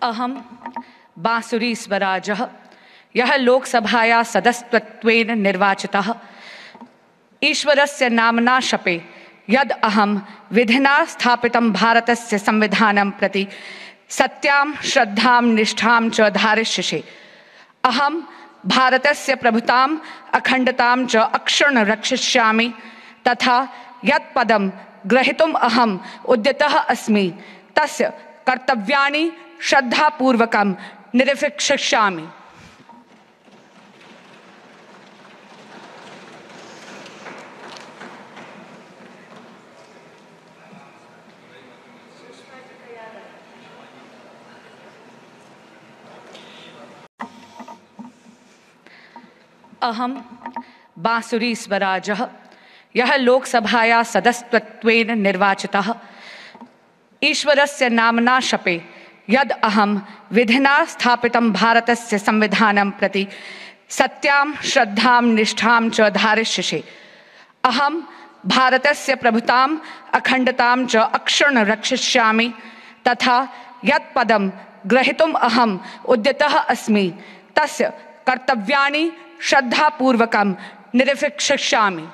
अहम बांसुरी स्वराजः यः लोकसभाया सदस्यत्वेन निर्वाचितः ईश्वरस्य नाम्ना शपे यद् अहं विधिना स्थापितं भारतस्य संविधानं प्रति सत्यां श्रद्धां निष्ठां च धारयिष्ये। अहं भारतस्य प्रभुताम् अखण्डतां च अक्षुण्ण रक्षिष्यामि तथा यत् पदं ग्रहीतुम् अहम् उद्यतः अस्मि तस्य कर्तव्यानि श्रद्धापूर्वकं निर्वहिष्यामि। अहम बांसुरी स्वराजः यः लोकसभाया सदस्यत्वेन निर्वाचितः ईश्वरस्य नाम्ना शपे यद् अहं विधिना स्थापितं भारतस्य संविधानं प्रति सत्यां श्रद्धां निष्ठां च धारयिष्ये। अहं भारतस्य प्रभुताम् अखण्डतां च अक्षुण्ण रक्षिष्यामि तथा यत् पदं ग्रहीतुम् अहम् उद्यतः अस्मि तस्य कर्तव्यानि श्रद्धापूर्वकं निर्वहिष्यामि।